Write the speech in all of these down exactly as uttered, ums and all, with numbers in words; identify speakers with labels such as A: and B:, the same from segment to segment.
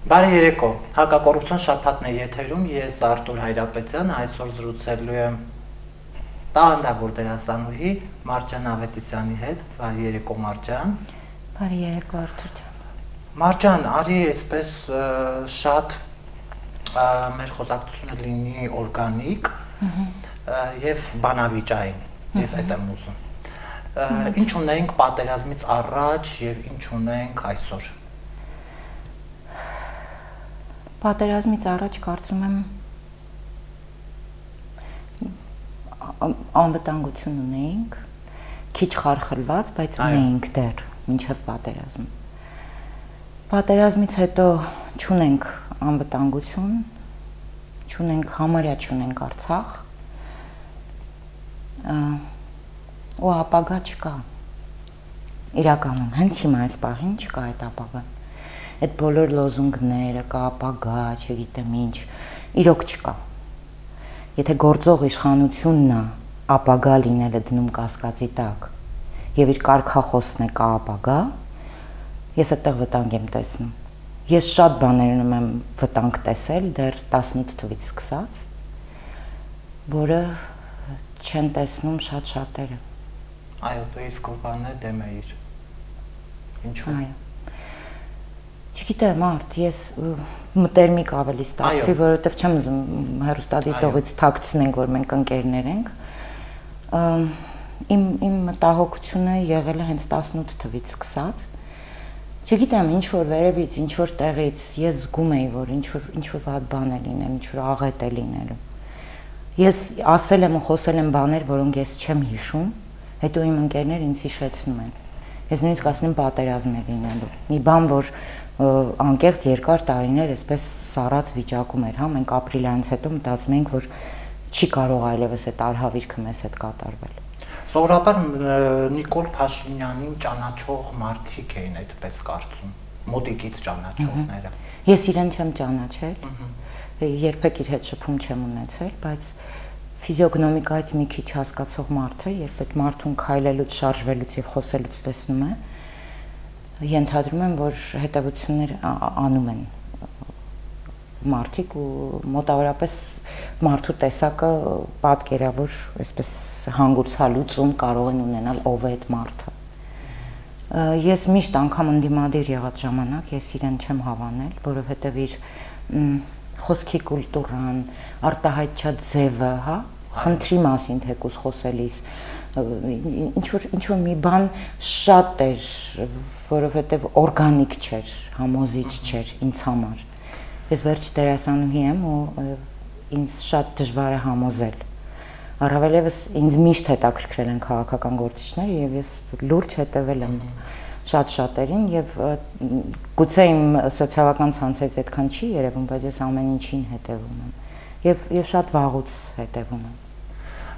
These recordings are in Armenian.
A: Բարի երեկո, հակակոռուպցիոն շաբաթն է եթերում, ես Արտուր Հայրապետյան, այսօր զրուցելու եմ տաղանդավոր դերասանուհի Մարջան Ավետիսյանի հետ։ Բարի երեկո, Մարջան։
B: Բարի երեկո, Արտուր ջան։
A: Մարջան, արի այսպես շատ մեր խոսակցությունը լինի օրգանիկ եւ բանավիճային, ես այդ եմ ուզում։ Ինչ ունենք պատերազմից առաջ եւ ինչ ունենք այսօր։
B: Պատերազմից առաջ կարծում եմ անվտանգություն ունեինք, քիչ խարխլված, բայց ունեինք դեռ մինչև պատերազմ։ Պատերազմից հետո չունենք անվտանգություն, չունենք համարյա չունենք Արցախ, ու ապագա չկա։ Իրականում հենց հիմա այս պահին չկա այդ ապագան։ Այդ բոլոր լոզունգները, կա ապագա, չգիտեմ ինչ, իրոք չկա։ Եթե գործող իշխանությունն է ապագա լինելը դնում կասկածի տակ եւ իր կարգախոսն է կա ապագա, ես այդտեղ վտանգ եմ տեսնում։ Ես շատ բաներում եմ վտանգ տեսել դեռ տասնութ թվականից սկսած, որը չեն տեսնում շատ շատերը։
A: Այո, դու ի սկզբանե դեմ էիր։ Ինչու՞։
B: Այո։ Չգիտեմ, արդ, ես մտերմիկ ավելի ստացվի, որովհետև չեմ ուզում հեռուստադիտողից թաքցնենք, որ մենք ընկերներ ենք։ Իմ իմ մտահոգությունը եղել է հենց տասնութ թվականից սկսած։ Չգիտեմ, ինչ որ վերևից, ինչ որ տեղից ես զգում էի, որ ինչ որ ինչ որ վատ բան է լինել, ինչ որ աղետ է լինելու։ Ես ասել եմ ու խոսել եմ բաներ, որոնք ես չեմ հիշում, հետո իմ ընկերները ինձ հիշեցնում են։ Ես նույնիսկ ասում եմ պատերազմ է լինելու։ Մի բան, որ անկեղծ երկար տարիներ այսպես սառած վիճակում էր, հա, մենք ապրիլյանից հետո մտածում ենք, որ չի կարող այլևս այդ արհավիրքը մեզ հետ կատարվել։
A: Սովորաբար Նիկոլ Փաշինյանին ճանաչող մարդիկ էին այդպես կարծում, մոտիկից ճանաչողները։
B: Ես իրեն չեմ ճանաչել, երբեք իր հետ շփում չեմ ունեցել, բայց ֆիզիոգնոմիկայից մի քիչ հասկացող մարդը, երբ այդ մարդուն քայլելուց, շարժվելուց եւ խոսելուց տեսնում է, ենթադրում եմ, որ հետևություններ անում են մարդիկ ու մոտավորապես մարդու տեսակը պատկերավոր այսպես հանգուցալուծում կարող են ունենալ ով է այդ մարդը։ Ես միշտ անգամ ընդդիմադիր եղած ժամանակ ես իրեն չեմ հավանել, որովհետև իր խոսքի կուլտուրան, արտահայտչած ձևը, հա, խնդրի մասին թեկուզ խոսելիս ինչ որ ինչ որ մի բան շատ էր, որովհետև օրգանիկ չէր, համոզիչ չէր ինձ համար։ Ես վերջ դերասանուհի եմ ու ինձ շատ դժվար է համոզել։ Առավելևս ինձ միշտ հետաքրքրել են քաղաքական գործիչները եւ ես լուրջ հետևել եմ շատ շատերին եւ գուցե իմ սոցիալական ցանցից այդքան չի երևում, բայց ես ամեն ինչին հետևում եմ եւ եւ շատ վաղուց հետևում եմ։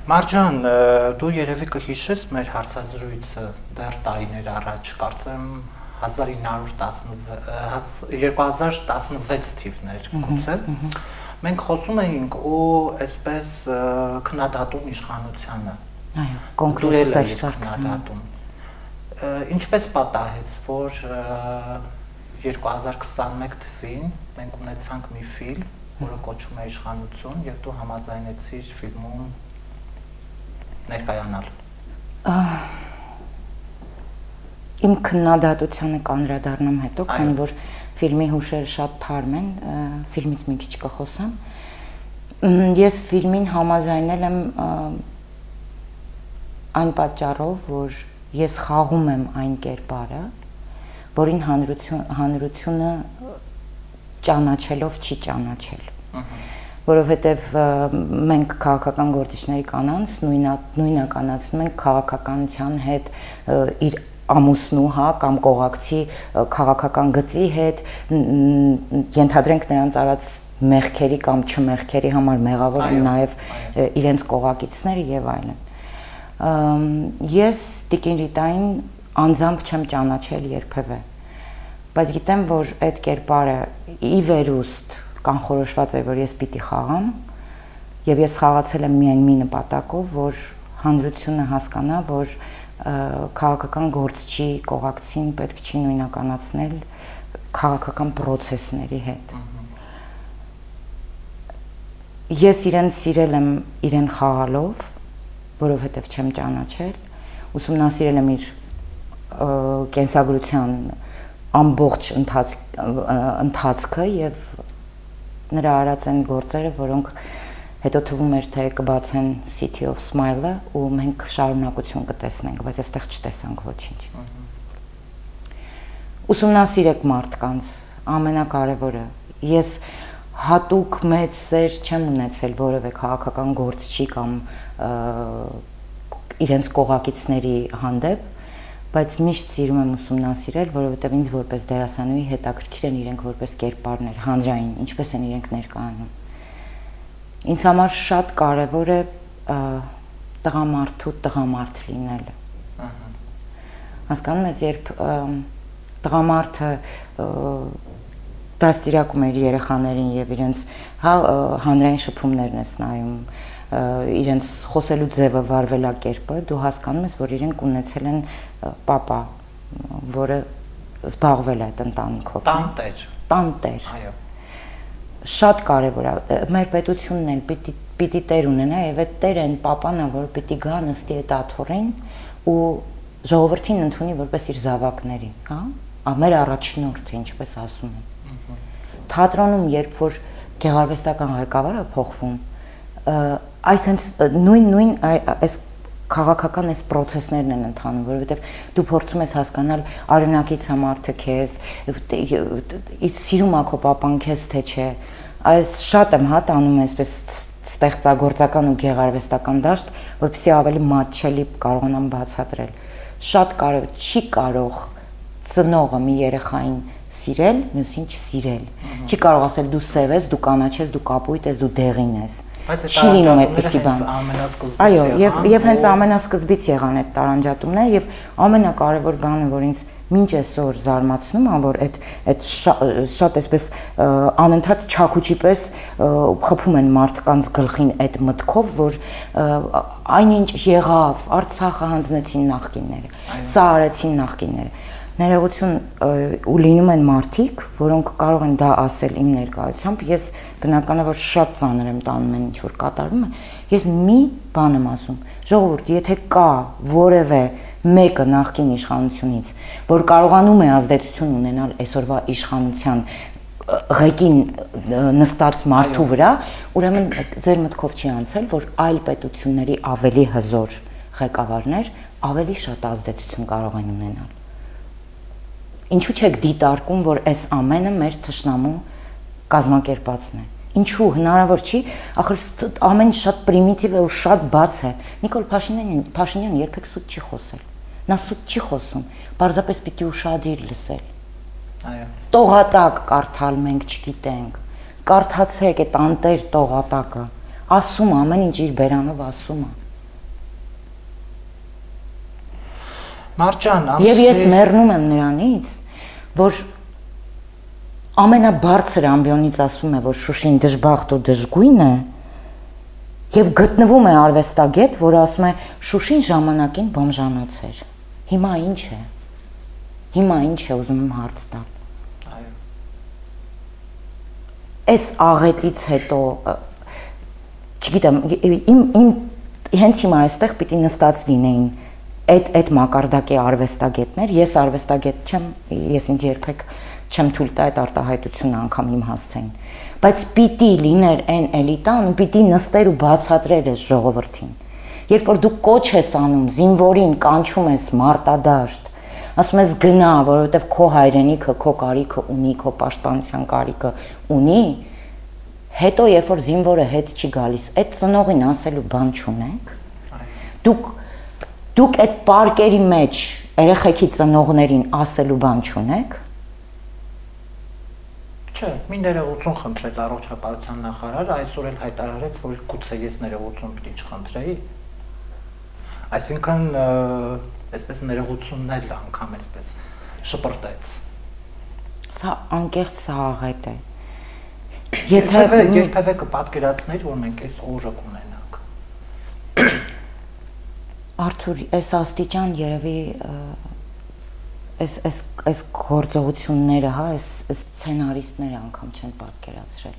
A: Մարջան, դու երևի կհիշես մեր հարցազրույցը դեռ տարիներ առաջ, կարծեմ երկու հազար տասնվեց թիվներ գուցե։ Մենք խոսում էինք ու այսպես քննադատում իշխանությանը։
B: Այո, կոնկրետ
A: քննադատում։ Ինչպես պատահեց, որ երկու հազար քսանմեկ թվականին մենք ունեցանք մի ֆիլմ, որը կոչվում է Իշխանություն, եւ դու համաձայնեցիր ֆիլմում ներկայանալ։
B: Իմ քննադատությանը կանրադառնամ հետո, քանի որ ֆիլմի հուշերը շատ թարմ են, ֆիլմից մի քիչ կխոսամ։ Ես ֆիլմին համաձայնել եմ այն պատճառով, որ ես խաղում եմ այն կերպարը, որին հանրությունը ճանաչելով չի ճանաչել։ Որովհետև մենք քաղաքական գործիչների կանանց նույնականացնում ենք քաղաքականության հետ իր ամուսնու, հա, կամ կողակցի քաղաքական գծի հետ, ենթադրենք նրանց արած մեղքերի կամ չմեղքերի համար մեղավոր են նաև իրենց կողակիցները եւ այլն։ Ես Տիկին Ռիտային անձամբ չեմ ճանաչել երբևէ, բայց գիտեմ, որ այդ կերպարը ի վերուստ կանխորոշված է, որ ես պիտի խաղամ, եւ ես խաղացել եմ միայն մի նպատակով, որ հանրությունը հասկանա, որ քաղաքական գործչի կողակցին պետք չի նույնականացնել քաղաքական process-ների հետ։ Ես իրեն սիրել եմ իրեն խաղալով, որովհետև չեմ ճանաչել, ուսումնասիրել եմ իր կենսագրության ամբողջ ընթացքը եւ նրա արած այն գործերը, որոնք հետո թվում էր թե կբացեն City of Smile-ը ու մենք շարունակություն կտեսնենք, բայց այստեղ չտեսանք ոչինչ։ Ուսումնասիրեք մարդկանց, ամենակարևորը։ Ես հատուկ մեծ սեր չեմ ունեցել որևէ քաղաքական գործչի կամ իրենց կողակիցների հանդեպ, բայց միշտ սիրում եմ ուսումնասիրել, որովհետև ինձ որպես դերասանուհի հետաքրքիր են իրենք որպես կերպարներ, հանրային, ինչպես են իրենք ներկայանում։ Ինձ համար շատ կարևոր է տղամարդու տղամարդ լինելը։ Հասկանում ես, երբ տղամարդը դաստիարակում է իր երեխաներին եւ իրենց հանրային շփումներն ես նայում, իրենց խոսելու ձևը, վարվելակերպը, դու հասկանում ես, որ իրենք ունեցել են պապա, որը զբաղվել է այդ ընտանիքով։
A: Տանտեր։
B: Տանտեր։
A: Այո։
B: Շատ կարևոր է։ Մեր պետությունն էլ պիտի պիտի տեր ունենա եւ այդ տերը այն պապան է, որ պիտի գա նստի այդ աթոռին ու ժողովրդին ընդունի որպես իր զավակների, հա? Մեր առաջնորդը, ինչպես ասում են։ Թատրոնում, երբ որ գեղարվեստական ղեկավարը փոխվում, այս հենց նույն-նույն այս քաղաքական այս process-ներն են ընթանում, որովհետև դու փորձում ես հասկանալ արյունակից է մարդը քեզ, սիրում է քո պապան քեզ թե չէ։ Այս շատ եմ հա տանում այսպես ստեղծագործական ու գեղարվեստական դաշտ, որպեսզի ավելի մատչելի կարողանամ բացատրել։ Շատ կարևոր չի կարող ծնողը մի երեխային սիրել, մյուսին չսիրել։ Չի կարող ասել դու սև ես, դու կանաչ ես, դու կապույտ ես, դու դեղին ես։ Չի լինում այդպիսի բան։ Այո, եւ եւ հենց ամենասկզբից եղան այդ տարանջատումները եւ ամենակարևոր բանը, որ ինձ մինչ այսօր զարմացնում է, որ այդ այդ շատ այսպես անընդհատ չակուճի պես խփում են մարդկանց գլխին այդ մտքով, որ այնինչ եղավ, Արցախը հանձնեցին նախկինները, սա արեցին նախկինները։ Ներողություն ու լինում են մարդիկ, որոնք կարող են դա ասել իմ ներկայությամբ, ես բնականաբար շատ ծանր եմ տանում են ինչ որ կատարվում է, ես մի բան եմ ասում, ժողովուրդ, եթե կա որևէ մեկը նախկին իշխանությունից, որ կարողանում է ազդեցություն ունենալ այսօրվա իշխանության ղեկին նստած մարդու վրա, ուրեմն ձեր մտքով չի անցել, որ այլ պետությունների ավելի հզոր ղեկավարներ ավելի շատ ազդեցություն կարող են ունենալ։ Ինչու չեք դիտարկում, որ այս ամենը մեր թշնամու կազմակերպածն է։ Ինչու հնարավոր չի, ախր ամեն շատ պրիմիտիվ է ու շատ բաց է։ Նիկոլ Փաշինյանը Փաշինյանը երբեք սուտ չի խոսել։ Նա սուտ չի խոսում, պարզապես պիտի ուշադիր լսել։
A: Այո։
B: Տողատակ կարդալ մենք չգիտենք։ Կարդացեք այդ անտեր տողատակը։ Ասում ամեն ինչ իր բերանով ասում է։
A: Մարջան, ամսի
B: Եվ ես մեռնում եմ նրանից, որ ամենաբարձր ամբիոնից ասում է, որ Շուշին դժբախտ ու դժգույն է, եւ գտնվում է արվեստագետ, որը ասում է Շուշին ժամանակին բոմժանոց էր։ Հիմա ինչ է։ Հիմա ինչ է, ուզում եմ հարց տալ։
A: Այո։
B: Այս աղետից հետո, չգիտեմ, իմ իմ հենց հիմա այստեղ պիտի նստած լինեին այդ այդ մակարդակի արվեստագետներ, ես արվեստագետ չեմ, ես ինձ երբեք չեմ թույլ տա այդ արտահայտությունը անգամ իմ հասցեին, բայց պիտի լիներ այն էլիտան ու պիտի նստեր ու բացատրեր այս ժողովրդին։ Երբ որ դու կոչ ես անում, զինվորին կանչում ես մարտադաշտ, ասում ես գնա, որովհետև քո հայրենիքը, քո կարիքը ունի, քո պաշտպանության կարիքը ունի, հետո երբ որ զինվորը հետ չի գալիս, այդ ծնողին ասելու բան չունեք։ Դուք Դուք այդ պարկերի մեջ երեխեքի ծնողներին ասելու բան չունեք։
A: Չէ, մի ներողություն խնդրեց առողջապահության նախարարը, այսօր էլ հայտարարեց, որ գուցե ես ներողություն պիտի չխնդրեի։ Այսինքն, այսպես ներողությունն էլ անգամ այսպես շպրտեց։
B: Սա անկեղծ աղետ է։
A: Եթե երբևէ կպատկերացներ, որ մենք այս օրը կունենանք։
B: Արթուր, այս աստիճան երևի այս այս այս գործողությունները, հա, այս սցենարիստները անգամ չեն պատկերացրել,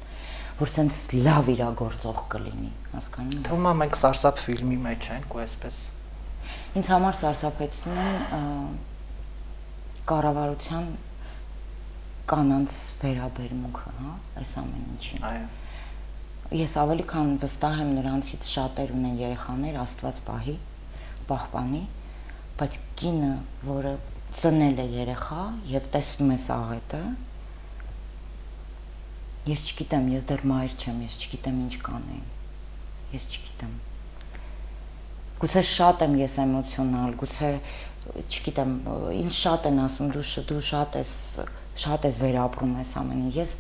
B: որ սենց լավ իրագործող կլինի, հասկանում եք։
A: Թվում է մենք սարսափ ֆիլմի մեջ ենք ու այսպես։
B: Ինձ համար սարսափեցնում են կառավարության կանանց վերաբերմունքը, հա, այս ամեն ինչին։
A: Այո։
B: Ես ավելի քան վստահ եմ նրանցից շատեր ունեն երեխաներ, Աստված պահի, պահպանի, բայց կինը, որը ծնել է երեխա եւ տեսնում է աղետը, ես չգիտեմ, ես դեռ մայր չեմ, ես չգիտեմ ինչ կանեի, ես չգիտեմ, գուցե շատ եմ ես էմոցիոնալ, գուցե, չգիտեմ, ինչ շատ են ասում, դու, դու շատ ես, շատ ես վերապրում ես ամենին, ես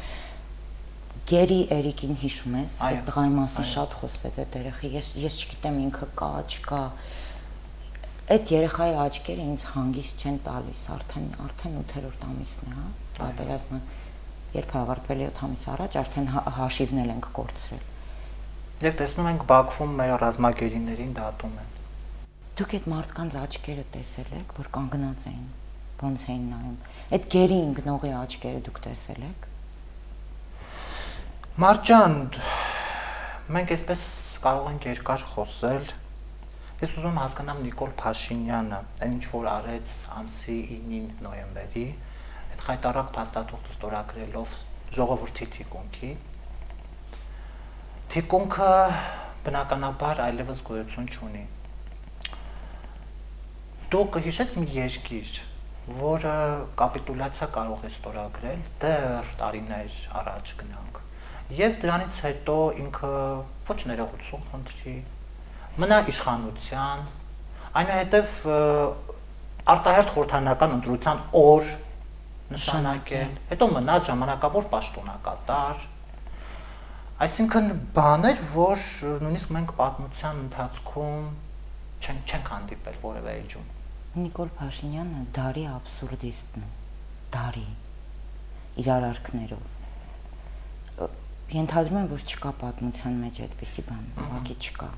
B: Գերի Էրիկին հիշում ես, այդ տղայի մասին շատ խոսվեց այդ երեխի, ես, ես չգիտեմ ինքը կա, չկա, այդ երեխայի աչքերը ինձ հանգիստ չեն տալիս, արդեն արդեն ութերորդ ամիսն է, հա, պատերազմը երբ ավարտվել է յոթ ամիս առաջ, արդեն հաշիվն ենք կորցրել։
A: Եվ տեսնում ենք Բաքվում մեր ռազմագերիներին դատում են։
B: Դուք այդ մարդկանց աչքերը տեսել եք, որ կանգնած էին, ոնց էին նայում։ Այդ գերի ընկնողի աչքերը դուք տեսել եք։
A: Մարջան, մենք այսպես կարող ենք երկար խոսել։ Ես ուզում եմ հասկանամ Նիկոլ Փաշինյանը, այն ինչ որ արեց ամսի ինին նոյեմբերի, այդ խայտարակ փաստաթուղթը ստորագրելով ժողովրդի թիկունքի։ Թիկունքը բնականաբար այլևս գոյություն չունի։ Դու կհիշես մի երկիր, որը կապիտուլյացիա կարող է ստորագրել, դեռ տարիներ առաջ գնանք, եւ դրանից հետո ինքը ոչ ներողություն խնդրի, մնա իշխանության, այնուհետև արտահերթ խորհրդարանական ընտրության օր նշանակել, հետո մնա ժամանակավոր պաշտոնակատար, այսինքն բաներ, որ նույնիսկ մենք պատմության ընթացքում չենք հանդիպել որևէ էջում։
B: Նիկոլ Փաշինյանը դարի աբսուրդիստն է, դարի իր արարքներով։ Ենթադրում եմ, որ չկա պատմության մեջ այդպիսի բան, ուղղակի չկա։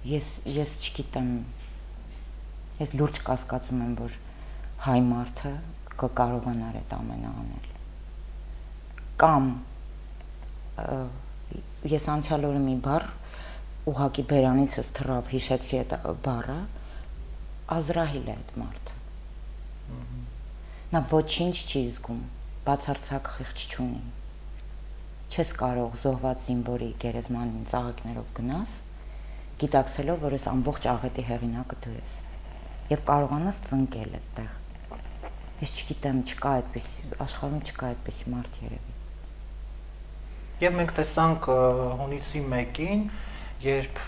B: Ես ես չգիտեմ, ես լուրջ կասկածում եմ, որ հայ մարդը կկարողանար այդ ամենը անել։ Կամ ես անցյալ օրը մի բառ ուղղակի բերանիցս թռավ, հիշեցի այդ բառը, Ազրահիլ է այդ մարդը։ Նա ոչինչ չի զգում, բացարձակ խիղճ չունի։ Չես կարող զոհված զինվորի գերեզմանին ծաղիկներով գնաս, գիտակցելով, որ ես ամբողջ աղետի հեղինակը դու ես, եւ կարողանաս ծնկել այդտեղ։ Ես չգիտեմ, չկա այդպիսի, աշխարհում չկա այդպիսի մարդ երևի։
A: Եվ մենք տեսանք հունիսի մեկին, երբ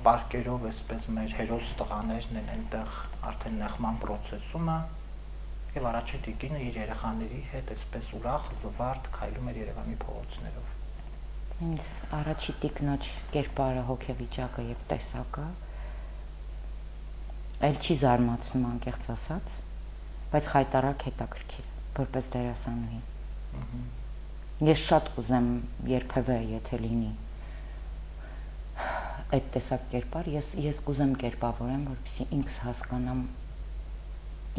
A: պարկերով այսպես մեր հերոս տղաներն են այնտեղ արդեն նեղման process-ումը, եւ առաջին տիկինը իր երեխաների հետ այսպես ուրախ, զվարթ քայլում էր Երևանի փողոցներով։
B: Ինձ առաջի տիկնոջ կերպարը, հոգեվիճակը եւ տեսակը այլ չի զարմացնում անկեղծ ասած, բայց խայտարակ հետաքրքիր որպես դերասանուհի։ Ես շատ կուզեմ երբևէ, եթե լինի այդ տեսակ կերպար, ես ես կուզեմ կերպավորեմ, որպեսզի ինքս հասկանամ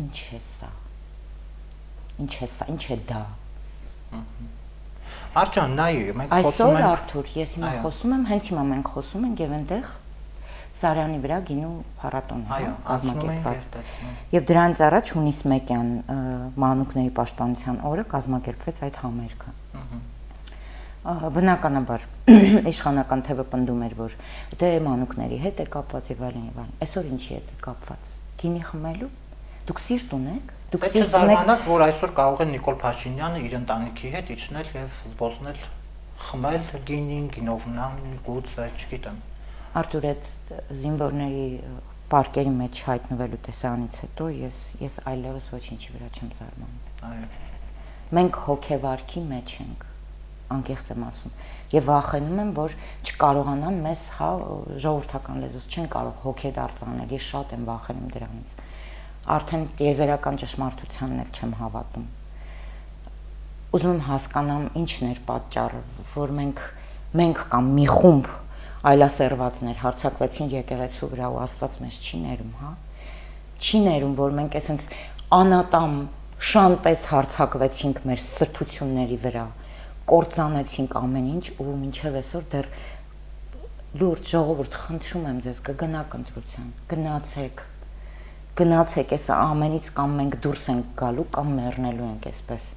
B: ինչ է սա։ Ինչ է սա, ինչ է դա։
A: Արջան, նայ, մենք խոսում ենք։
B: Այսօր Արթուր, ես հիմա խոսում եմ, հենց հիմա մենք խոսում ենք եւ այնտեղ Սարյանի վրա գինու փառատոնն է կազմակերպված։ Եվ դրանից առաջ հունիս մեկյան մանուկների պաշտպանության օրը կազմակերպվեց այդ համերգը։ Բնականաբար իշխանական թևը պնդում էր, որ դե մանուկների հետ է կապված եւ այլն եւ այլն։ Այսօր ինչի հետ է կապված։ Գինի խմելու։ Դուք սիրտ ունեք։ Դուք
A: սիրտ ունեք։ Չզարմանաս, որ այսօր կարող է Նիկոլ Փաշինյանը իր ընտանիքի հետ իջնել եւ զբոսնել, խմել գինին, գինովնան, գուցե, չգիտեմ։
B: Արթուր, այդ զինվորների պարկերի մեջ հայտնվելու տեսանից հետո ես ես այլևս ոչինչի վրա չեմ զարմանում։
A: Այո։
B: Մենք հոգեվարքի մեջ ենք, անկեղծ եմ ասում, եւ վախենում եմ, որ չկարողանան մեզ, հա, ժողովրդական լեզուց չեն կարող հոգեդարձ անել, ես շատ եմ վախենում դրանից։ Արդեն տիեզերական ճշմարտությանն էլ չեմ հավատում։ Ուզում եմ հասկանամ ինչն էր պատճառը, որ մենք մենք կամ մի խումբ այլասերվածներ հարձակվեցին եկեղեցու վրա ու Աստված մեզ չի ներում, հա։ Չի ներում, որ մենք այսպես անատամ շանպես հարցակվեցինք մեր սրբությունների վրա, կործանեցինք ամեն ինչ ու մինչև այսօր դեռ լուրջ ժողովուրդ խնդրում եմ ձեզ կգնաք ընտրության, գնացեք, գնացեք, այս ամենից կամ մենք դուրս ենք գալու կամ մեռնելու ենք այսպես։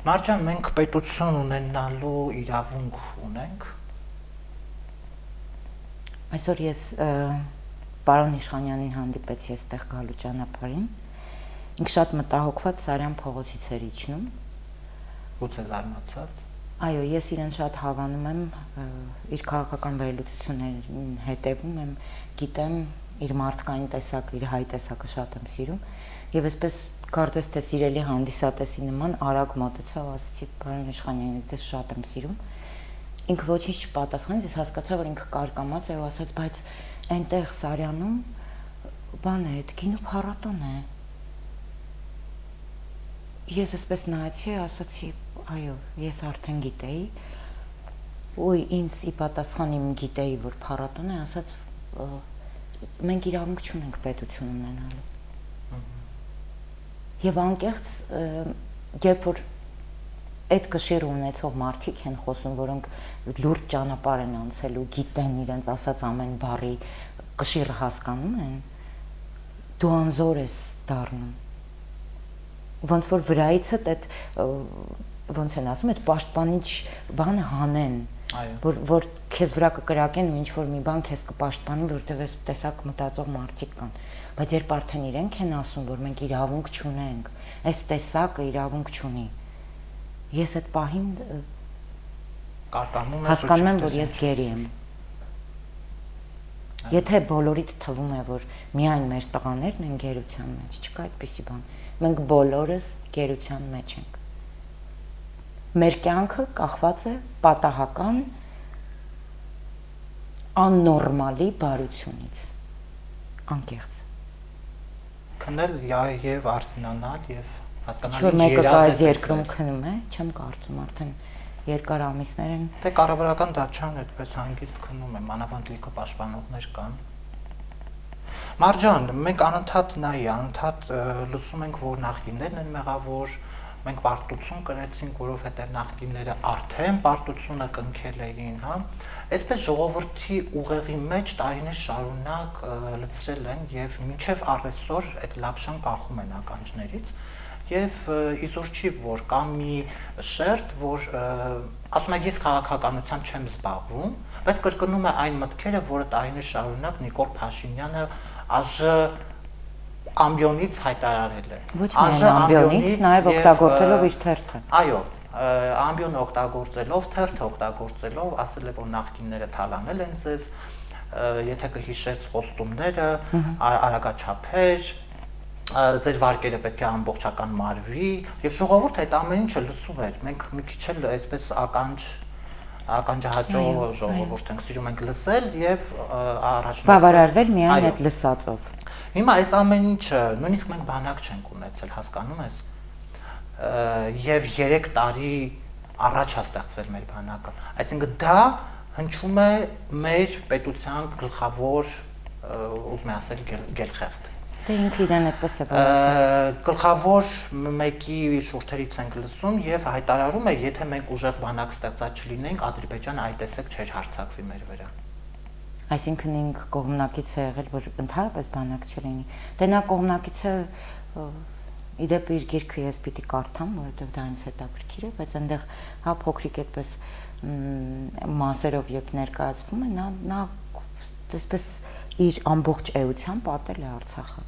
A: Մարջան, մենք պետություն ունենալու իրավունք ունենք։
B: Այսօր ես պարոն Իշխանյանին հանդիպեցի այստեղ գալու ճանապարհին։ Ինքը շատ մտահոգված Սարյան փողոցից էր իջնում։
A: Ո՞ց է զարմացած։
B: Այո, ես իրեն շատ հավանում եմ, իր քաղաքական վերլուծություններին հետևում եմ, գիտեմ իր մարդկային տեսակը, իր հայ տեսակը շատ եմ սիրում, եւ այսպես կարծես թե սիրելի հանդիսատեսի նման արագ մոտեցավ, ասացի պարոն Իշխանյանից ձեզ շատ եմ սիրում։ Ինքը ոչինչ չպատասխանեց, ես հասկացա, որ ինքը կարկամած է ու ասաց, բայց այնտեղ Սարյանում բան է, այդ գինու փառատոն է։ Ես այսպես նայեցի, ասացի, այո, ես արդեն գիտեի, ու ինձ ի պատասխան իմ գիտեի, որ փառատոն է, ասաց, մենք իրավունք չունենք պետություն ունենալու։ Եվ անկեղծ, երբ որ այդ կշիռ ունեցող մարդիկ են խոսում, որոնք լուրջ ճանապարհ են անցել ու գիտեն իրենց ասած ամեն բառի կշիռը հասկանում են, դու անզոր ես դառնում։ Ոնց որ վրայիցդ այդ ոնց են ասում, այդ պաշտպանիչ բանը հանեն, որ որ քեզ վրա կկրակեն ու ինչ որ մի բան քեզ կպաշտպանի, որտեղ այս տեսակ մտածող մարդիկ կան։ Բայց երբ արդեն իրենք են ասում, որ մենք իրավունք չունենք, այս տեսակը իրավունք չունի, ես այդ պահին
A: կարկանում եմ,
B: հասկանում եմ, որ ես գերի եմ։ Եթե բոլորիդ թվում է, որ միայն մեր տղաներն են գերության մեջ, չկա այդպիսի բան։ Մենք բոլորս գերության մեջ ենք։ Մեր կյանքը կախված է պատահական աննորմալի բարությունից, անկեղծ։
A: Քնել եւ արսենանալ եւ հասկանալ
B: ինչ մեկը կայզ երկրում քնում է, չեմ կարծում արդեն երկար ամիսներ են։
A: Դե կառավարական դատչան այդպես հանգիստ քնում է, մանավանդ լիքը պաշտպանողներ կան։ Մարջան, մենք անընդհատ նայ, անընդհատ լսում ենք, որ նախկիններն են մեղավոր, մենք պարտություն կրեցինք, որովհետև նախկինները արդեն պարտությունը կնքել էին, հա։ Այսպես ժողովրդի ուղեղի մեջ տարիներ շարունակ լցրել են եւ մինչեւ առեսօր այդ լապշան կախում են ականջներից եւ իզուր չի որ կա մի շերտ, որ ասում է ես քաղաքականությամբ չեմ զբաղվում, բայց կրկնում է այն մտքերը, որը տարիներ շարունակ Նիկոլ Փաշինյանը ԱԺ ամբիոնից հայտարարել է։
B: Ոչ միայն ամբիոնից, նաև օգտագործելով իր թերթը։
A: Այո, ամբիոնը օգտագործելով, թերթը օգտագործելով, ասել է, որ նախկինները թալանել են ձեզ, եթե կհիշես խոստումները, արագաչափեր, ձեր վարկերը պետք է ամբողջական մարվի, եւ ժողովուրդը այդ ամեն ինչը լսում էր։ Մենք մի քիչ էլ այսպես ականջ ականջահաճո ժողովուրդ ենք, սիրում ենք լսել եւ առաջնորդ
B: բավարարվել միայն այդ լսածով։
A: Հիմա այս ամեն ինչը նույնիսկ մենք բանակ չենք ունեցել, հասկանում ես։ Եվ երեք տարի առաջ է ստեղծվել մեր բանակը։ Այսինքն դա հնչում է մեր պետության գլխավոր, ուզում եմ ասել, գելխեղտ։
B: Դե ինքը իրեն այդպես է որոշել։
A: Գլխավոր մեկի շուրթերից ենք լսում եւ հայտարարում է, եթե մենք ուժեղ բանակ ստեղծած չլինենք, Ադրբեջանը այդ տեսակ չէր հարձակվի մեր վրա։
B: Այսինքն ինք կողմնակից է եղել, որ ընդհանրապես բանակ չլինի։ Դե նա կողմնակից է իդեպ իր գիրքը ես պիտի կարդամ, որովհետեւ դա ինձ հետաքրքիր է, բայց այնտեղ հա փոքրիկ այդպես մասերով երբ ներկայացվում է, նա նա այսպես իր ամբողջ էությամբ պատել է Արցախը։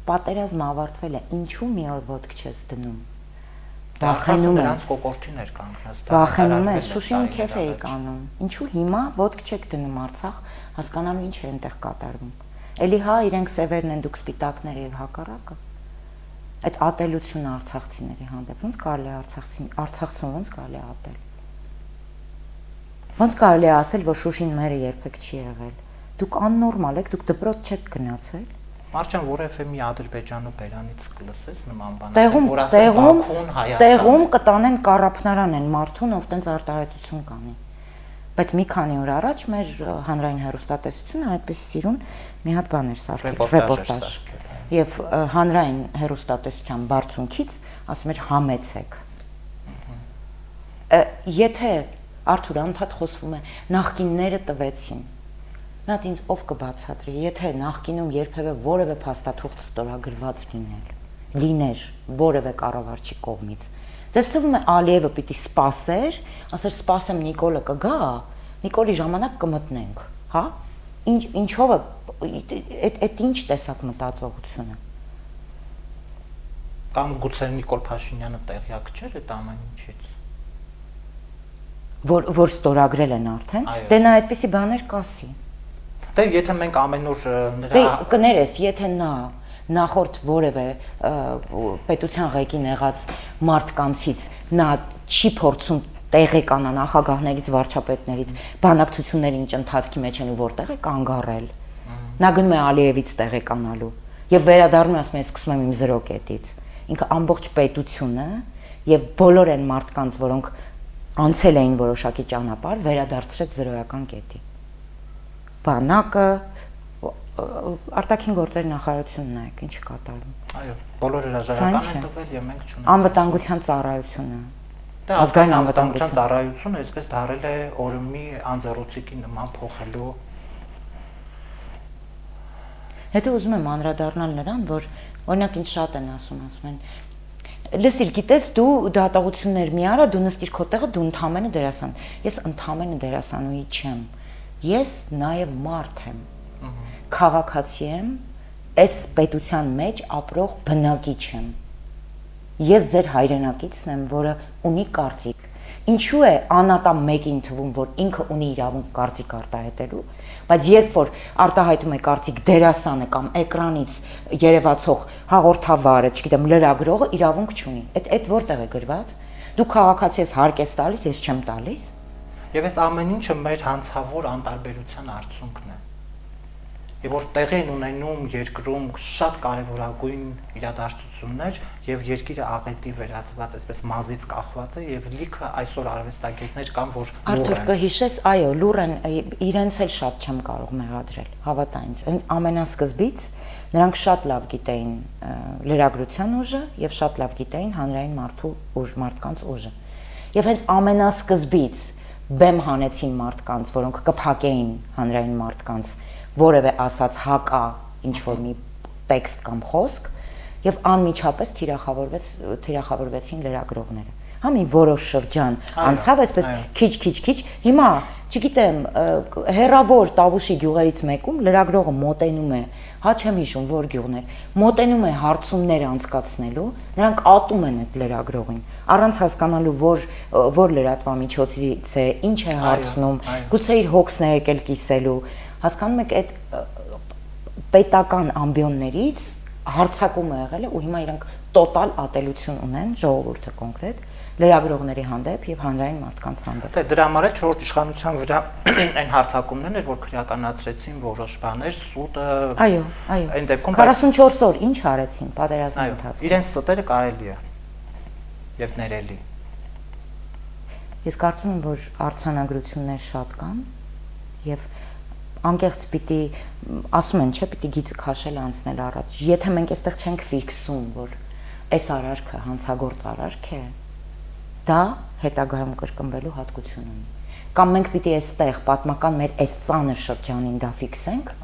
B: Պատերազմը ավարտվել է, ինչու մի օր ոտք չես դնում։ Վախենում ես,
A: կոկորտին էր կանգնած,
B: վախենում ես, Շուշին քեֆ էի կանում։ Ինչու հիմա ոտք չեք դնում Արցախ, հասկանալու ինչ է այնտեղ կատարվում։ Էլի հա իրենք սևերն են, դուք սպիտակներ եւ հակառակը։ Այդ ատելությունը արցախցիների հանդեպ ոնց կարելի է արցախցին, արցախցուն ոնց կարելի է ատել։ Ոնց կարելի է ասել, որ Շուշին մերը երբեք չի եղել։ Դուք աննորմալ եք, դուք դպրոց չեք գնացել։
A: Մարջան, որևէ մի Ադրբեջանու բերանից կլսես նման բան,
B: տեղում
A: որ ասել Բաքուն, Հայաստան։
B: Տեղում կտանեն կառափնարան են մարդուն, ով տենց արտահայտություն կանի։ Բայց մի քանի օր առաջ մեր հանրային հեռուստատեսությունը այդպես սիրուն մի հատ բան էր սարքել, ռեպորտաժ։ եւ հանրային հերոստատեսության բարձունքից ասում էր համեցեք։ Եթե Արթուր անդադ խոսվում է նախկինները տվեցին։ Նա ինձ ով կբացատրի, եթե նախկինում երբևէ որևէ փաստաթուղթ ստորագրված լինել, լիներ որևէ կառավարչի կողմից։ Ձեզ թվում է Ալիևը պիտի սպասեր, ասեր սպասեմ Նիկոլը կգա, Նիկոլի ժամանակ կմտնենք, հա? Ինչ ինչով է այդ այդ ինչ տեսակ մտածողություն է։
A: Կամ գուցե Նիկոլ Փաշինյանը տեղյակ չէր այդ ամեն ինչից։
B: Որ որ ստորագրել են արդեն, դե նա այդպիսի բաներ կասի։
A: Դե եթե մենք ամեն օր նրա
B: Դե կներես, եթե նա նախորդ որևէ պետության ղեկին եղած մարդկանցից նա չի փորձում տեղեկանա նախագահներից, վարչապետներից, բանակցությունների ընթացքի մեջ են ու որտեղ է կանգառել։ Նա գնում է Ալիևից տեղեկանալու եւ վերադառնում է ասում է սկսում եմ իմ զրոկետից։ Ինքը ամբողջ պետությունը եւ բոլոր այն մարդկանց, որոնք անցել էին որոշակի ճանապարհ, վերադարձրեց զրոյական կետի։ Բանակը, արտաքին գործերի նախարարությունն է, ինչ կատարում։
A: Այո, բոլոր հրաժարական են տվել եւ մենք չունենք։
B: Անվտանգության ծառայությունը։
A: Դա ազգային անվտանգության ծառայությունը այսպես դարել է օրումի անձեռոցիկի նման փոխելու։
B: Հետո ուզում եմ անդրադառնալ նրան, որ օրինակ ինձ շատ են ասում, ասում են Լսիր, գիտես դու դատողություններ մի արա, դու նստիր քո տեղը, դու ընդամենը դերասան։ Ես ընդամենը դերասանուհի չեմ։ Ես նաև մարդ եմ։ Քաղաքացի եմ, այս պետության մեջ ապրող բնակիչ եմ։ Ես ձեր հայրենակիցն եմ, որը ունի կարծիք։ Ինչու է անատամ մեկին թվում, որ ինքը ունի իրավունք կարծիք արտահայտելու, բայց երբ որ արտահայտում է կարծիք դերասանը կամ էկրանից երևացող հաղորդավարը, չգիտեմ, լրագրողը իրավունք չունի։ Այդ այդ որտեղ է գրված։ Դու քաղաքացի ես հարկ ես տալիս, ես չեմ տալիս։
A: Եվ այս ամեն ինչը մեր հանցավոր անտարբերության արդյունքն է։ Եվ որ տեղի են ունենում երկրում շատ կարևորագույն իրադարձություններ եւ երկիրը աղետի վերածված, այսպես մազից կախված է եւ լիքը այսօր արվեստագետներ կան, որ
B: Արթուր կհիշես, այո, լուր են, իրենց էլ շատ չեմ կարող մեղադրել, հավատա ինձ։ Հենց ամենասկզբից նրանք շատ լավ գիտեին լրագրության ուժը եւ շատ լավ գիտեին հանրային մարդու ուժ, մարդկանց ուժը։ Եվ հենց ամենասկզբից բեմ հանեցին մարդկանց, որոնք կփակեին հանրային մարդկանց որևէ ասած հակա ինչ որ մի տեքստ կամ խոսք եւ անմիջապես թիրախավորվեց թիրախավորվեցին լրագրողները։ Հա մի որոշ շրջան անցավ այսպես քիչ-քիչ-քիչ, հիմա չգիտեմ, հերավոր Տավուշի գյուղերից մեկում լրագրողը մոտենում է, հա չեմ հիշում որ գյուղներ, մոտենում է հարցումներ անցկացնելու, նրանք ատում են այդ լրագրողին, առանց հասկանալու որ որ լրատվամիջոցից է, ինչ է հարցնում, գուցե իր հոգսն է եկել կիսելու, հասկանում եք այդ պետական ամբիոններից հարցակում է եղել ու հիմա իրանք տոտալ ատելություն ունեն ժողովուրդը կոնկրետ լրագրողների հանդեպ եւ հանրային մարդկանց հանդեպ։
A: Դե դրա համար է չորրորդ իշխանության վրա այն հարցակումներն էր, որ քրեականացրեցին որոշ բաներ, սուտը։
B: Այո, այո։
A: Այն դեպքում
B: քառասունչորս օր ինչ արեցին պատերազմի ընթացքում։
A: Իրենց ստերը կարելի է եւ ներելի։
B: Ես կարծում եմ, որ արձանագրություններ շատ կան եւ անկեղծ պիտի ասում են, չէ, պիտի գիծը քաշել անցնել առաջ։ Եթե մենք այստեղ չենք ֆիքսում, որ այս արարքը հանցագործ արարք է, դա հետագայում կրկնվելու հատկություն ունի։ Կամ մենք պիտի այստեղ պատմական մեր այս ծանր շրջանին դա ֆիքսենք,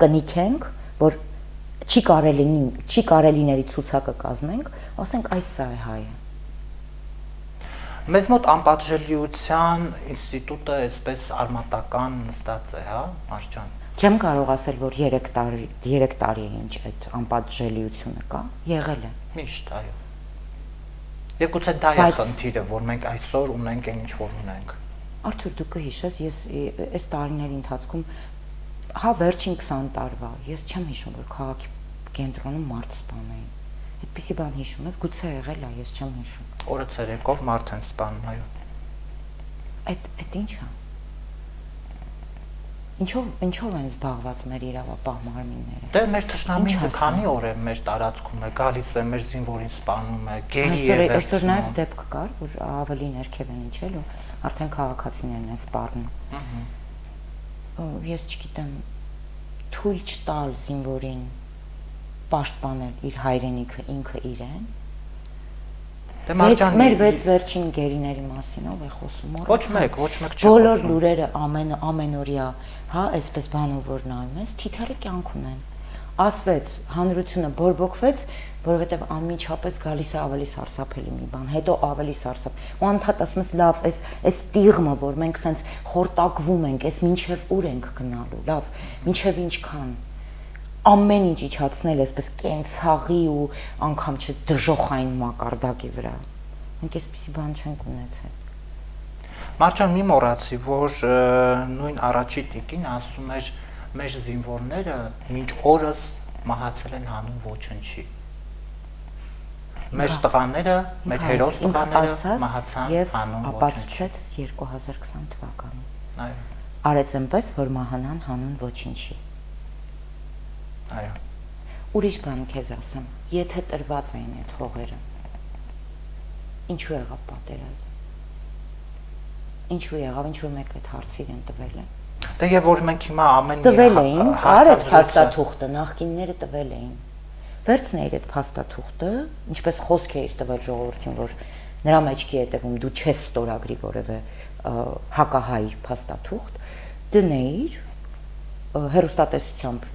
B: կնիքենք, որ չի կարելի չի կարելիների ցուցակը կազմենք, ասենք այս սա է հայը։
A: Մեզ մոտ անպատժելիության ինստիտուտը այսպես արմատական նստած է, հա, Մարջան։
B: Չեմ կարող ասել, որ երեք տարի երեք տարի է ինչ այդ անպատժելիությունը կա, եղել է։
A: Միշտ, այո։ Եվ գուցե դա է խնդիրը, որ մենք այսօր ունենք այն ինչ որ ունենք։
B: Արթուր, դու կհիշես, ես այս տարիների ընթացքում հա վերջին քսան տարվա, ես չեմ հիշում, որ քաղաքի կենտրոնում մարդ սպանեին։ Այդպիսի բան հիշում ես, գուցե եղել է, ես չեմ հիշում։
A: Օրը ցերեկով մարդ են սպանում, այո։
B: Այդ այդ ի՞նչ է։ Ինչով ինչով են զբաղված մեր իրավապահ մարմինները։
A: Դե մեր թշնամին քանի օր է մեր տարածքում է, գալիս է մեր զինվորին սպանում է, գերի է վերցնում։
B: Այսօր նաև դեպք կար, որ ավելի ներքև են իջել ու արդեն քաղաքացիներն են սպառնում։ Ահա։ Ես չգիտեմ, թույլ չտալ զինվորին պաշտպանել իր հայրենիքը ինքը իրեն։
A: Դե Մարջան,
B: մեր վեց վերջին գերիների մասին ով է խոսում։
A: Ոչ մեկ, ոչ մեկ չի խոսում։
B: Բոլոր լուրերը ամեն ամենօրյա, հա, այսպես բանով որ նայում ես, թիթեռը կյանք ունեն։ Ասվեց, հանրությունը բորբոքվեց, որովհետև անմիջապես գալիս է ավելի սարսափելի մի բան, հետո ավելի սարսափ։ Ու անդադ ասում ես, լավ, այս այս տիղմը, որ մենք սենց խորտակվում ենք, այս մինչև ուր ենք գնալու, լավ, մինչև ինչքան ամեն ինչ իջացնել այսպես կենցաղի ու անգամ չդժոխային մակարդակի վրա։ Մենք այսպիսի բան չենք ունեցել։
A: Մարջան, մի մոռացի, որ նույն առաջի տիկին ասում էր մեր զինվորները մինչ օրս մահացել են հանուն ոչնչի։ Մեր տղաները, մեր հերոս տղաները մահացան հանուն ոչնչի։
B: Ապացուցեց երկու հազար քսան թվականին։
A: Այո։
B: Արեց այնպես, որ մահանան հանուն ոչնչի։
A: Այո։
B: Ուրիշ բան քեզ ասեմ, եթե տրված էին այդ հողերը, ինչու եղավ պատերազմ։ Ինչու եղավ, ինչու մեկ այդ հարցը իրեն տվել է։
A: Դե եւ որ մենք հիմա ամեն
B: մի տվել էին, կարեց փաստաթուղթը, նախկինները տվել էին։ Վերցնեիր այդ փաստաթուղթը, ինչպես խոսք էիր տվել ժողովրդին, որ նրա մեջքի հետևում դու չես ստորագրի որևէ հակահայ փաստաթուղթ, դնեիր հերոստատեսությամբ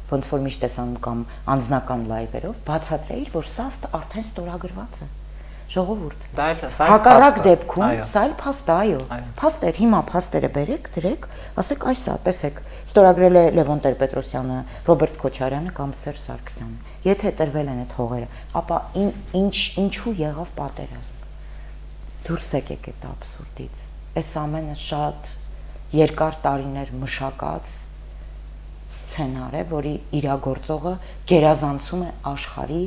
B: ոնց որ միշտ ես անում կամ անձնական լայվերով, բացատրեիր, որ սա արդեն ստորագրված է։ Ժողովուրդ։
A: Դա էլ սա
B: հակառակ դեպքում սա էլ փաստ է, այո։ Փաստեր, հիմա փաստերը բերեք, դրեք, ասեք այս է, տեսեք, ստորագրել է Լևոն Տեր-Պետրոսյանը, Ռոբերտ Քոչարյանը կամ Սերժ Սարգսյանը։ Եթե տրվել են այդ հողերը, ապա ինչ ինչու եղավ պատերազմ։ Դուրս եկեք այդ աբսուրդից։ Այս ամենը շատ երկար տարիներ մշակած սցենար է, որի իրագործողը գերազանցում է աշխարհի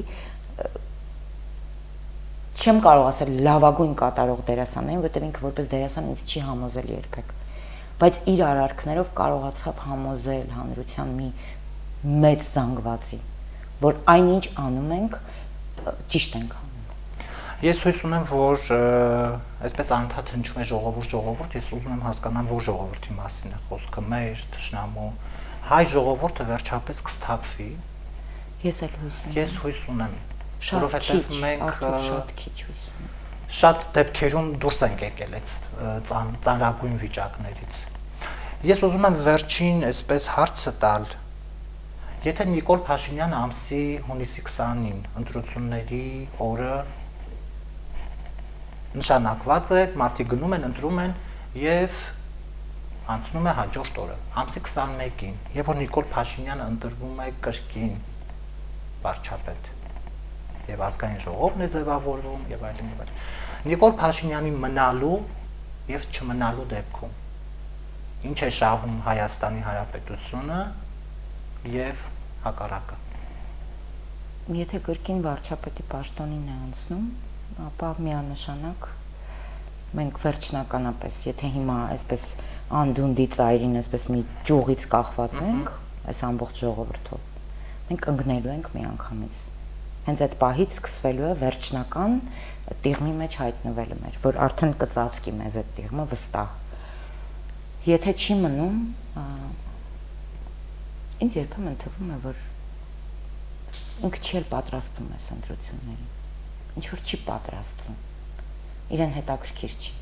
B: չեմ կարող ասել լավագույն կատարող դերասաններին, որտեղ ինքը որպես դերասան ինձ չի համոզել երբեք, բայց իր արարքներով կարողացավ համոզել հանրության մի մեծ զանգվածի, որ այնինչ անում ենք, ճիշտ ենք անում։
A: Ես հույս ունեմ, որ այսպես անդադ հնչում է ժողովուրդ, ժողովուրդ, ես ուզում եմ հասկանամ, որ ժողովրդի մասին է խոսքը, մեր թշնամու, հայ ժողովուրդը վերջապես կսթափվի։
B: Ես էլ հույս ունեմ։
A: Ես հույս ունեմ, որովհետև մենք
B: շատ քիչ հույս ունեմ։
A: Շատ դեպքերում դուրս ենք եկել այդ ծանրագույն վիճակներից։ Ես ուզում եմ վերջին այսպես հարցը տալ, եթե Նիկոլ Փաշինյանը ամսի հունիսի քսանին ընտրությունների օրը նշանակված է, մարդիկ գնում են, ընտրում են եւ անցնում է հաջորդ օրը, ամսի քսանմեկին, եւ որ Նիկոլ Փաշինյանը ընտրվում է կրկին վարչապետ եւ ազգային ժողովն է ձևավորվում եւ այլն եւ այլն։ Նիկոլ Փաշինյանի մնալու եւ չմնալու դեպքում ինչ է շահում Հայաստանի Հանրապետությունը եւ հակառակը։
B: Եթե կրկին վարչապետի պաշտոնին է անցնում, ապա միանշանակ մենք վերջնականապես, եթե հիմա այսպես անդունդի ծայրին այսպես մի ճյուղից կախված ենք, այս ամբողջ ժողովրդով, մենք ընկնելու ենք միանգամից։ Հենց այդ պահից սկսվելու է վերջնական տիղմի մեջ հայտնվելը մեր, որ արդեն կծածկի մեզ այդ տիղմը վստահ։ Եթե չի մնում, ինձ երբեմն թվում է, որ ինքը չի էլ պատրաստվում այս ընտրություններին, ինչ որ չի պատրաստվում, իրեն հետաքրքիր չի։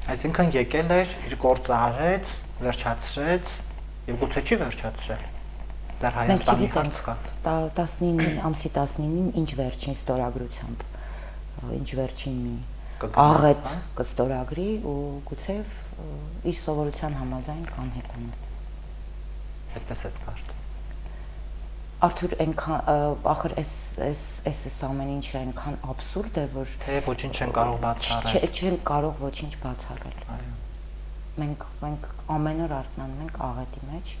A: Այսինքն եկել էր, իր գործը արեց, վերջացրեց եւ գուցե չի վերջացրել։ Դեռ Հայաստանի հարց կա։
B: տասնինը ամսի տասնինին ինչ վերջին ստորագրությամբ, ինչ վերջին մի աղետ կստորագրի ու գուցե իր սովորության համաձայն կանհետանա։
A: Այդպես է կարծում։
B: Արթուր, այնքան ախր այս այս այս ամեն ինչը այնքան աբսուրդ է, որ
A: թե ոչինչ չեն կարող բացառել։
B: Չեն կարող ոչինչ բացառել։
A: Այո։
B: Մենք մենք ամեն օր արթնանում ենք աղետի մեջ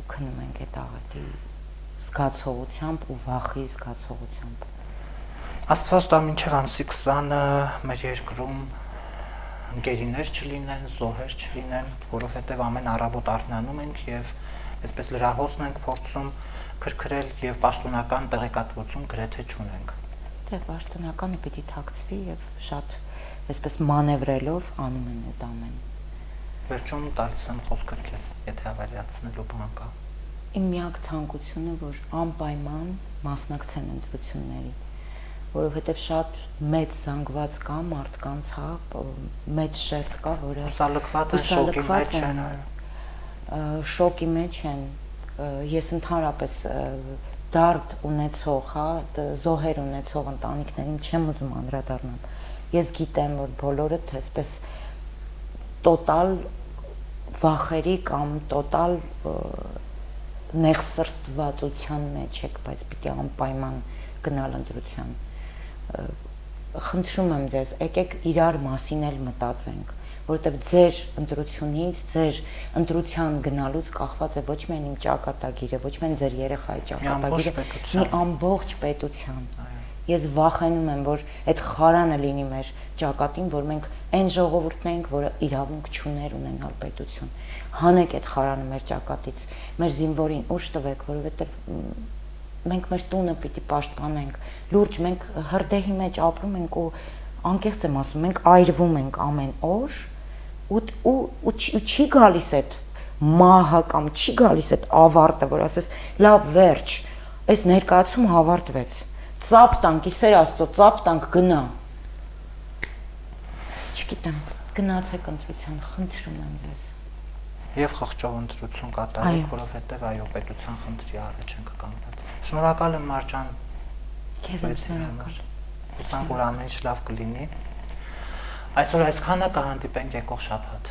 B: ու քնում ենք այդ աղետի զգացողությամբ ու վախի զգացողությամբ։
A: Աստված տա մինչև ամսի քսանը մեր երկրում գերիներ չլինեն, զոհեր չլինեն, որովհետև ամեն առավոտ արթնանում ենք եւ այսպես լրահոսն ենք փորձում քրքրել եւ պաշտոնական տեղեկատվություն գրեթե չունենք։
B: Դե պաշտոնականը պիտի թաքցվի եւ շատ այսպես մանևրելով անում են այդ ամեն։
A: Վերջում տալիս եմ խոսքը քեզ, եթե ավելացնելու բան կա։
B: իմ միակ ցանկությունը, որ անպայման մասնակցեն ընտրությունների, որովհետև շատ մեծ զանգված կա մարդկանց, հա, մեծ շերտ կա, որը
A: հուսալքված են, շոկի մեջ են, այո։
B: Շոկի մեջ են, ես ընդհանրապես դարդ ունեցող, հա, զոհեր ունեցող ընտանիքներին չեմ ուզում անդրադառնալ։ Ես գիտեմ, որ բոլորդ այսպես տոտալ վախերի կամ տոտալ նեղսրտվածության մեջ եք, բայց պիտի անպայման գնալ ընտրության։ Խնդրում եմ ձեզ, եկեք իրար մասին էլ մտածենք, որովհետև ձեր ընտրությունից, ձեր ընտրության գնալուց կախված է ոչ միայն իմ ճակատագիրը, ոչ միայն ձեր երեխայի ճակատագիրը, մի ամբողջ պետության։ Ես վախենում եմ, որ այդ խարանը լինի մեր ճակատին, որ մենք այն ժողովուրդն ենք, որը իրավունք չուներ ունենալ պետություն։ Հանեք այդ խարանը մեր ճակատից, մեր զինվորին ուժ տվեք, որովհետև մենք մեր տունը պիտի պաշտպանենք, լուրջ մենք հրդեհի մեջ ապրում ենք ու անկեղծ եմ ասում, մենք այրվում ենք ամեն օր ու ու չի գալիս այդ մահը կամ չի գալիս այդ ավարտը, որ ասես լավ վերջ, այս ներկայացումը ավարտվեց, ծափ տանք, իսեր Աստծո, ծափ տանք, գնա։ Չգիտեմ, գնացեք ընտրության, խնդրում եմ ձեզ։
A: Եվ խղճով ընտրություն կատարեք, որովհետև այո, պետության խնդրի առաջ ենք կանգնած։ Շնորհակալ եմ Մարջան։
B: Քեզ եմ շնորհակալ։
A: Հուսանք, որ ամեն ինչ լավ կլինի։ Այսօր այսքանը, կհանդիպենք եկող շաբաթ։